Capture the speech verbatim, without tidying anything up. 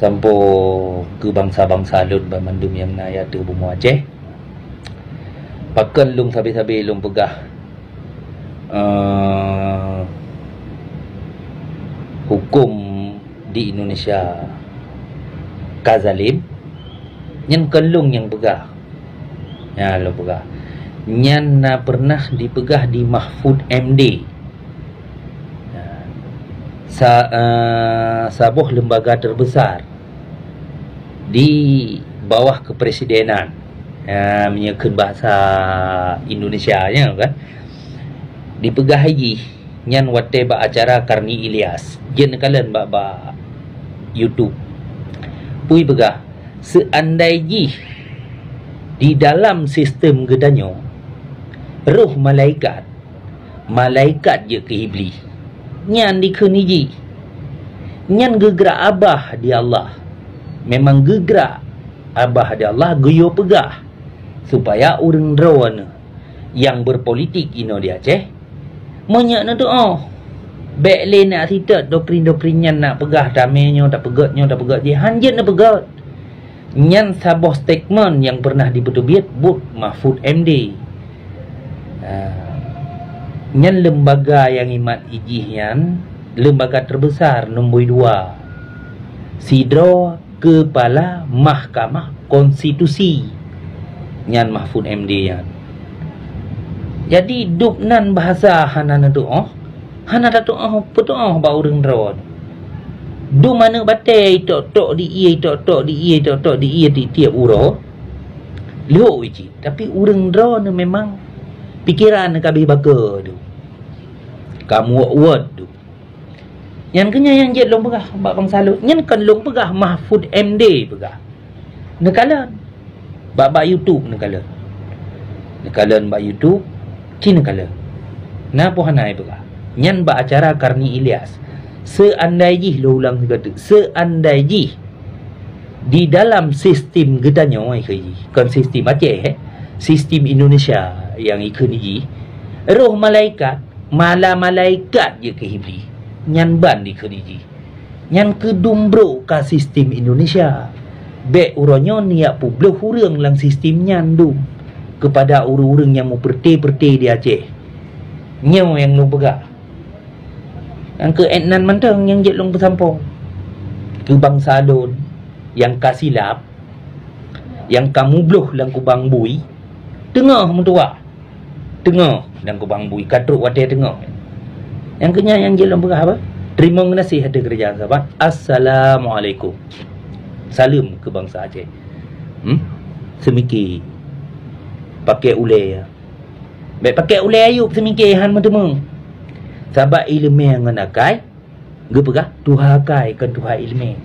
Sampoe keu bansa-bansa lôn banmandum nyang na ateueh bumoe Aceh. Pakon lôn sabe-sabe lôn peugah, eh, huköm di Indonesia ka zalim? Nyan kon lôn nyang peugah. Nyan lôn peugah. Nyan na pernah dipeugah di Mahfud M D. Sa-, eh, saboh lembaga terbesar di bawah kepresidenan, eh, meunyoe kheun bahasa Indonesia nya kan, dipeugah jih nyan watée bak acara Karni Ilyas. Jeuet neukalon bak, bak YouTube. Peue peugah, seuandai jih di dalam sistem geutanyoe roh malaikat, malaikat jeuet keu Iblih. Nyan dikheun jih. Nyan geugrak abah di Allah. Memang geugrak abah di Allah geuyue peugah supaya ureuëng droeneuh nyang berpolitik inoe di Aceh meunyoe neutuoh. Bék lé nak sitot doktrin-doktrin nyan nak peugah tamé nyoe tapeugét nyoe tapeugét jih, hanjeuet neupeugét. Nyan saboh statement nyang pernah dipeuteubiet buet Mahfud M D. Ha. Nyan lembaga nyang imat ijih nyan lembaga terbesar nombor dua. Sidroe Kepala Mahkamah Konstitusi nyan Mahfud M D nyan. Jadi dub nan bahasa hana neutuoh, hana tatuoh peutuoh bak ureuëng droe. Dum aneuëk batée itok-tok di ie, itok-tok di ie, itok-tok di ie tiep-tiep uroe. Lhok cit, tapi ureuëng droeneuh memang pikeran ka beh baka tu. Ka muwot-wot tu. Nyan keuh nyan nyang jeuet lôn peugah bak bansa lôn. Nyan kon lôn peugah, Mahfud M D peugah. Neukalon. Bak, bak YouTube neukalon. Neukalon bak YouTube, ci neukalon. Na peue hana ipeugah. Nyan bak acara Karni Ilyas. Seuandai jih, lôn ulang sigoe teuk, seuandai jih di dalam sistem geutanyoe, kon sistem Aceh, eh, sistem Indonesia nyang ikheun jih, roh malaikat, mala malaikat jeuet keu Iblih. Nyan ban dikheun jih. Nyan keuh dum brok ka sistem Indonesia. Bék uroe nyoe neujak peubloh ureuëng lam sistem nyan dum keupada ureuëng-ureuëng nyang meupeureuté-peureuté di Aceh. Nyoe nyang lôn peugah. Nyang keu ék nan mantong nyang jeuet lôn peusampoe keu bansa lôn nyang ka silap, nyang ka mubloh lam kubang bui, teungoh meutuwah. Teungoh dan kubang bui ka trok watée teungoh. Nyang keuh nyan nyang jeuet lôn peugah apa? Teurimong geunaséh ateueh keurajeuen sahabat. Assalamualaikum. Saleuem keu bansa Aceh. Hmm? Seumike. Paké ulée. Bék paké ulée Ayub seumike han meuteumé. Sabab iéleumé ngon akai geupeugah tuha akai kon tuha iéleumé.